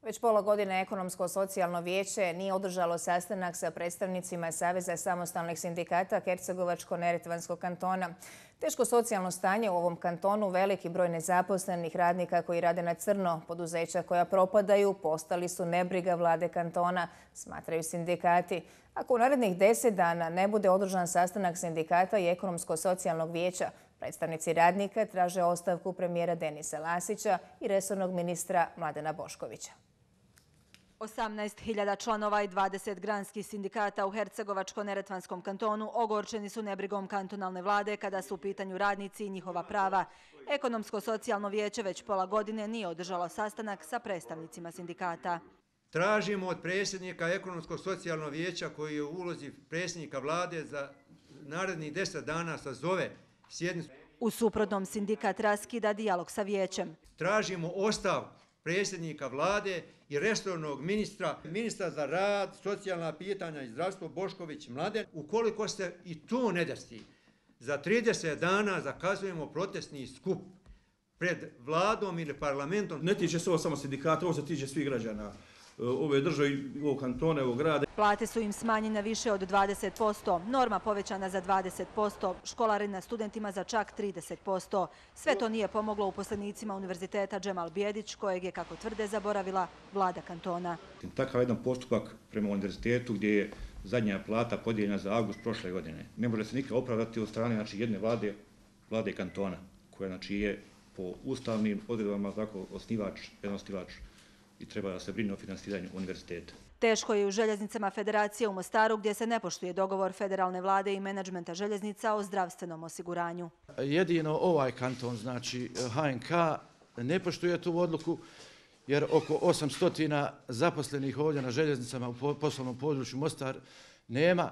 Već pola godine Ekonomsko-socijalno vijeće nije održalo sastanak sa predstavnicima Saveza samostalnih sindikata Hercegovačko-neretvanskog kantona. Teško socijalno stanje u ovom kantonu, veliki broj nezaposlenih radnika koji rade na crno, poduzeća koja propadaju, postali su nebriga vlade kantona, smatraju sindikati. Ako u narednih 10 dana ne bude održan sastanak sindikata i Ekonomsko-socijalnog vijeća, predstavnici radnika traže ostavku premijera Denisa Lasića i resornog ministra Mladena Boškovića. 18.000 članova i 20 granskih sindikata u Hercegovačko-neretvanskom kantonu ogorčeni su nebrigom kantonalne vlade kada su u pitanju radnici i njihova prava. Ekonomsko-socijalno vijeće već pola godine nije održalo sastanak sa predstavnicima sindikata. Tražimo od predsjednika Ekonomsko-socijalnog vijeća koji je u ulozi predsjednika vlade za narednih 10 dana sazove sjednicu. U suprotnom sindikat raskida dijalog sa vijećem. Tražimo ostavku predsjednika vlade i resornog ministra za rad, socijalna pitanja i zdravstvo Bošković Mladen. Ukoliko se i to ne desi, za 30 dana zakazujemo protestni skup pred vladom ili parlamentom. Ne tiče se ovo samo sindikata, ovo se tiče svih građana ove države, ovog kantona, ovog grada. Plate su im smanjene više od 20%, norma povećana za 20%, školarina studentima za čak 30%. Sve to nije pomoglo uposlenicima Univerziteta Džemal Bijedić, kojeg je, kako tvrde, zaboravila vlada kantona. Takav jedan postupak prema univerzitetu gdje je zadnja plata podijeljena za avgust prošle godine ne može se nikad opravdati od strane jedne vlade kantona, koja je po ustavnim odredbama osnivač i treba da se brine o finansiranju univerziteta. Teško je u željeznicama Federacije u Mostaru, gdje se ne poštuje dogovor federalne vlade i menadžmenta željeznica o zdravstvenom osiguranju. Jedino ovaj kanton, znači HNK, ne poštuje tu odluku jer oko 800 zaposlenih ovdje na željeznicama u poslovnom području Mostar nema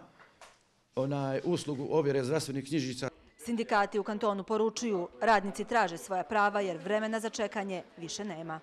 uslugu ovjere zdravstvenih knjižica. Sindikati u kantonu poručuju, radnici traže svoja prava jer vremena za čekanje više nema.